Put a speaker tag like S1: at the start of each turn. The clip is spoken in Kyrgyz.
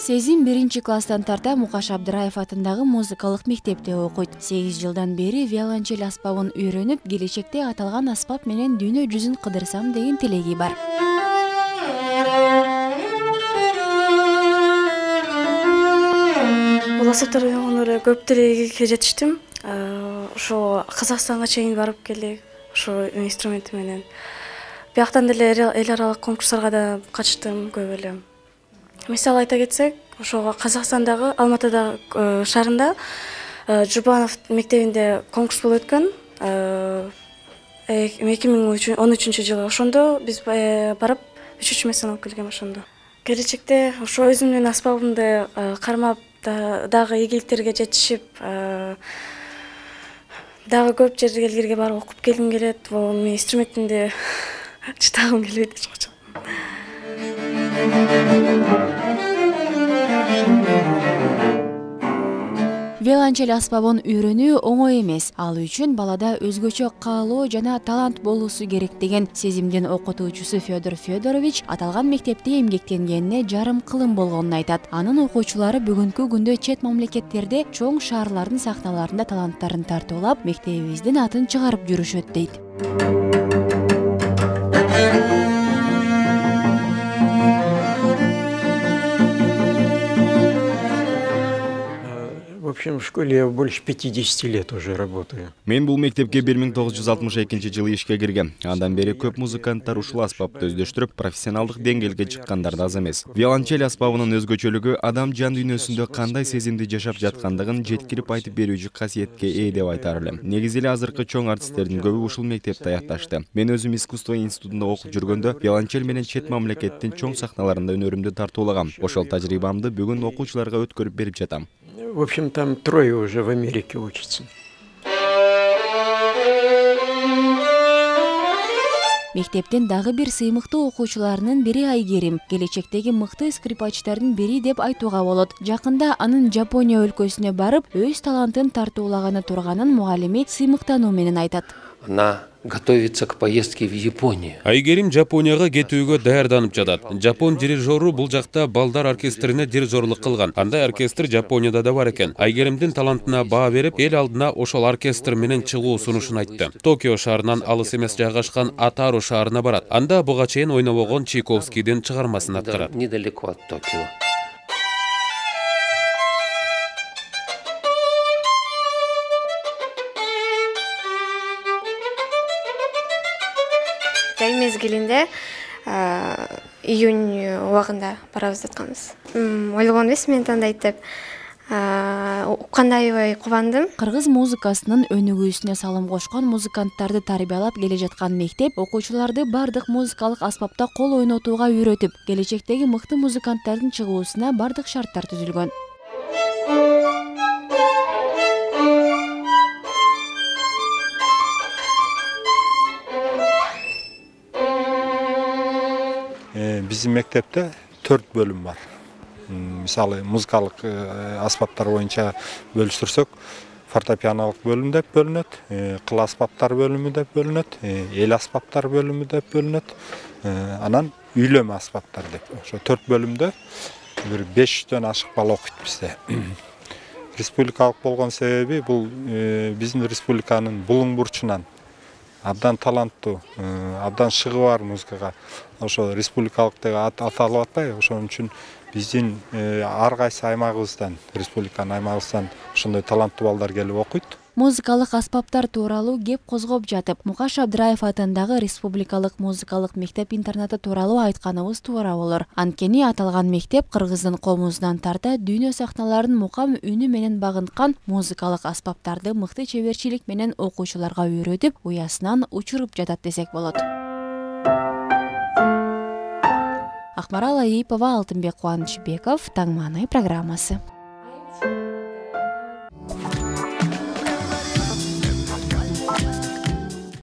S1: Сезим 1-класстан тарта Мукаш Абдыраев атындагы музыкалык мектепте окуйт. 8 жылдан бери виолончель аспабын үйрөнүп, келечекте аталган аспап менен дүйнө жүзүн кыдырсам деген тилеги бар.
S2: Бул аспаптарды үйрөнгөнү көп тилегиге жетиштим. Ошо Казакстанга чейин барып келдик. Ошо инструменти менен. Бияктан деле эл аралык конкурстарга да катыштым көп эле. Мисалы айта кетсек, ошого Казакстандагы Алматыдагы шаарында Жубанов мектебинде конкурс болуп өткөн. 2013-жылы ошондо биз барып 3 месте алып келгем ошондо. Келечекте ошо өзүмдүн аспабымды кармап дагы ийгиликтерге жетишип, дагы көп жерлерге барып окуп келгим келет. Бул инструментимди чытагым келбейт эч качан.
S1: Виолончель аспабын үйрөнүү оңой эмес. Ал үчүн балада өзгөчө каалоо жана талант болуусу керек деген Сезимдин окутуучусу Федор Федорович аталган мектепте эмгектенгенине жарым кылым болгонун айтат. Анын окуучулары бүгүнкү күндө чет мамлекеттерде чоң шаарлардын сахналарында таланттарын тартуулап, мектебибиздин атын чыгарып жүрүшөт дейт.
S3: В общем, в школе я больше 50 лет уже работаю.
S4: Мен бул мектепке 1962-жылы ишке киргем. Андан бери көп музыканттар ушул аспапты өздөштүрүп, профессионалдык деңгээлге чыккандар да аз эмес. Виолончель аспабынын өзгөчөлүгү адам жан дүйнөсүндө кандай сезимди жашап жаткандыгын жеткирип айтып берүүчү касиетке ээ деп айтар элем. Негизи эле азыркы чоң артисттердин көбү ушул мектепте аякташты. Мен өзүм искусство институтунда окуп жүргөндө виолончель менен чет мамлекеттин чоң сахналарында өнөрүмдү тартуулагам. Ошол тажрыйбамды бүгүн окуучуларга өткөрүп берип жатам.
S3: В общем, там 3 уже в Америке учатся.
S1: Мектептин дагы бир сыймыктуу окуучуларынын бири Айгерим, келечектеги мыкты скрипачтардын бири деп айтууга болот. Жакында анын Жапония өлкөсүнө барып, өз талантын тартуулаганы турганын мугалими сыймыктануу менен айтат.
S5: Она готовится к поездке в Японию.
S6: Айгерим Жапонияга кетүүгө даярданып жатат. Жапон дирижеру бул жакта балдар оркестрине дирижерлук кылган. Андай оркестр Жапонияда да бар экен. Айгеримдин талантына баа берип, эл алдына ошол оркестр менен чыгуу сунушун айтты. Токио шаарынан алыс эмес жайгашкан Атару шаарына барат. Анда буга чейин ойнобогон Чайковскийдин чыгармасын аткарат.
S5: Недалеко от Токио.
S2: Жай мезгилинде июнь убагында барабыз атканбыз. Ойлогон эмес мен тандайт деп. Уккандай аябай кубандым.
S1: Кыргыз музыкасынын өнүгүүсүнө салым кошкон музыканттарды тарбиялап келе жаткан мектеп окуучуларды бардык музыкалык аспапта кол ойнотууга үйрөтүп, келечектеги мыкты музыканттардын чыгуусуна бардык шарттар түзүлгөн.
S7: Биздин мектепте 4 бөлүм бар. Мисалы, музыкалык аспаптар боюнча бөлүштүрсөк, фортепианолук бөлүм деп бөлүнөт, кыл аспаптар бөлүмү деп бөлүнөт, эл аспаптар бөлүмү деп бөлүнөт, анан үйлөмө аспаптар деп. Ошо 4 бөлүмдө бир 500дөн ашык бала окуйт бизде. Республикалык болгон себеби бул биздин республиканын булуң бурчунан абдан таланттуу, абдан шыгы бар музыкага ошо республикалык деп аталып атпайбы? Ошон үчүн биздин ар кайсы аймагыбыздан, республиканын аймагыбыздан ошондой таланттуу балдар келип окуйт.
S1: Музыкалык аспаптар тууралуу кеп козгоп жатып, Мукаш Абдыраев атындагы республикалык музыкалык мектеп-интернаты тууралуу айтканыбыз туура болор. Анткени аталган мектеп Кыргыздын комузунан тарта дүйнө сахналарын мукам үнү менен багынткан музыкалык аспаптарды мыкты чеберчилик менен окуучуларга үйрөтүп, уясынан учуруп жатат десек болот. Акмарал Айипова, Алтынбек Кубанычбеков, Таң мааны программасы.